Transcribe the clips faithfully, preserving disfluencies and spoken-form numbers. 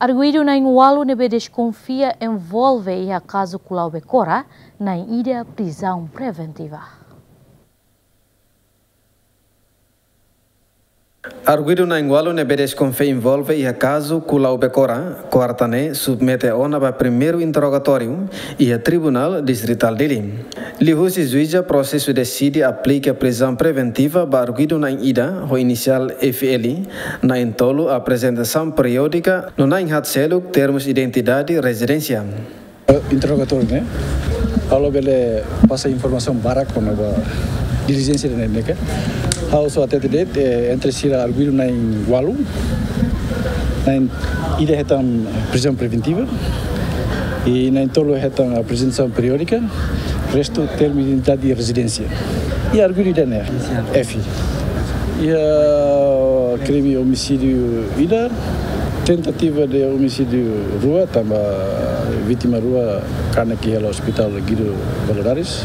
Arguidu na'in-ualu ne'ebé deskonfia envolve iha kazu Kulau Bekora, na'in-ida prizaun preventiva. Arguidu na'in-ualu ne'ebé deskonfia envolve iha kazu Kulau Bekora, kuarta ne'e submete ona ba primeiru interrogatóriu iha Tribunál Distritál Dili. Liuhusi juíza, prosesu deside aplika prizaun preventiva ba arguidu na'in-ida ho inisiál F L, na'in-tolu aprezentasaun periódika no na'in-haat seluk termus identidade rezidénsia. Interrogatóriu ne'e, ha'u labele pasa informasaun barak kona-ba dilijénsia ne'e, ne'e ka. Ha'u só hatete de'it, eh, entre sira arguidu na'in-ualu, na'in-ida hetan prizaun preventiva, i na'in-tolu hetan aprezentasaun periódika, restu termu identidade rezidénsia. I arguidu ida ne'e, F. Iha krime omisídiu ida, tentativa de omisídiu rua, tanba vítima rua kanek iha Hospital Guido Valadares.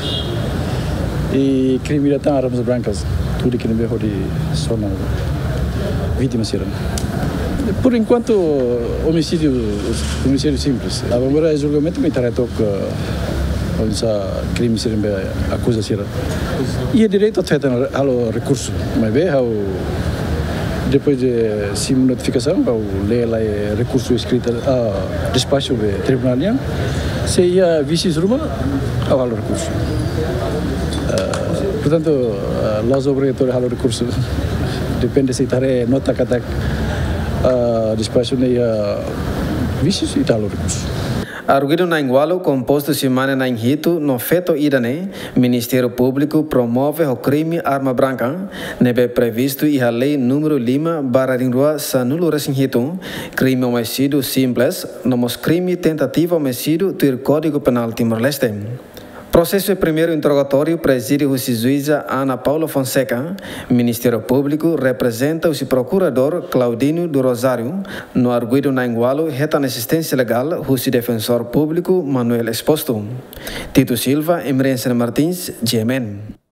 I krime ida tan armas brancas, tuir ne'ebé hodi sona vítima sira. Por enkuantu, omisídiu, omisídiu simples. Agora, julgamentu, ita haree took, eh, oinsá krime sira ne'ebé akuza sira. Iha direitu atu hetan, halo rekursu. Maibé ha'u, depois de simu notifikasaun, ha'u lee lai rekursu eskrita, ah, despaxu de tribunál nian. Se iha vísius ruma, ha'u halo rekursu. Ah, portantu, ah, la'ós obrigatóriu halo rekursu. Depende se ita haree nota katak, ah, despaxu ne'e iha vísius, ita halo rekursu. Arguidu na'in-ualu kompostu husi mane na'in-hitu no feto ida ne'e, Ministériu Públiku promove ho krime arma branka, ne'ebé previstu iha lei númeru lima barra rihun rua sanulu resin hitu, krime omisídiu simples, no mós krime tentativa omisídiu tuir Kódigu Penál Timor-Leste. Prosesu primeiru interrogatóriu prezide husi juíza Ana Paula Fonseca, Ministériu Públiku reprezenta husi Prokuradór Claudinho do Rosário, no arguidu na'in-ualu hetan asisténsia legál husi Defensór Públiku Manuel Exposto. Tito Silva, Emerencia Martins, G M N.